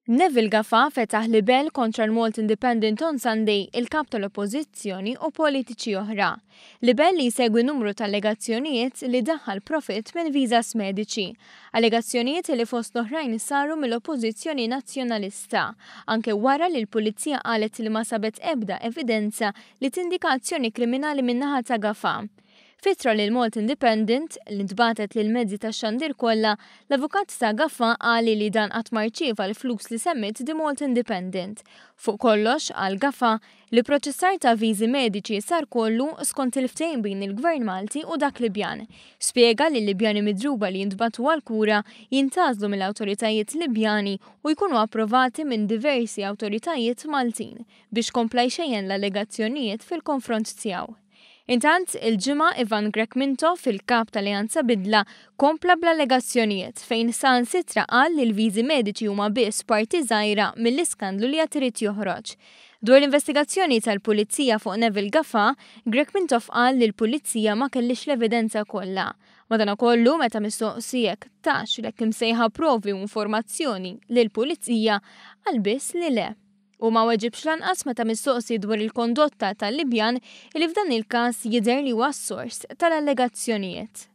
Neville Gafà fetaħ libell kontra l-Malta Independent on Sunday, il-kap tal-Oppożizzjoni u politiċi oħra. Libell li jsegwi numru ta' allegazzjonijiet li daħħal profitt minn visas mediċi. Allegazzjonijiet li fost l-oħrajn saru mill-Oppożizzjoni Nazzjonalista, anke wara li l-Pulizija qalet li ma sabet ebda evidenza li tindika azzjoni kriminali min-naħa ta' Gafà. F'ittra lil Malta Independent, li ntbagħtet lill-mezzi tax-xandir kollha, l-avukat ta' Gafà qal li dan qatt ma rċieva l-flus li semmiet The Malta Independent. Fuq kollox, qal Gafà, l-ipproċessar ta' viżi mediċi sar kollu skont il-ftehim bejn il-Gvern Malti u dak Libjan. Spjega li l-Libjani midruba li jintbagħtu għall-kura jintgħażlu mill-awtoritajiet Libjani u jkunu approvati minn diversi awtoritajiet Maltin biex kompla jxejjen l-allegazzjonijiet fil-konfront tiegħu. Intant, il-Ġimgħa Ivan Grech Mintoff, il-Kap tal-Alleanza Bidla, kompla bl-allegazzjonijiet fejn saħansitra qal li l-viżi mediċi huma biss parti żgħira mill-iskandlu li għad irid joħroġ. Dwar l-investigazzjoni tal-Pulizija fuq Neville Gafà, Grech Mintoff qal li l-Pulizija ma kellhiex l-evidenza kollha. Madanakollu, meta mistoqsi jekk tax l-hekk imsejħa provi u informazzjoni lill-Pulizija, qal biss li le. Hu ma weġibx lanqas meta mistoqsi dwar il-kondotta tal-Libjan li f'dan il-każ jidher li huwa s-sors tal-allegazzjonijiet.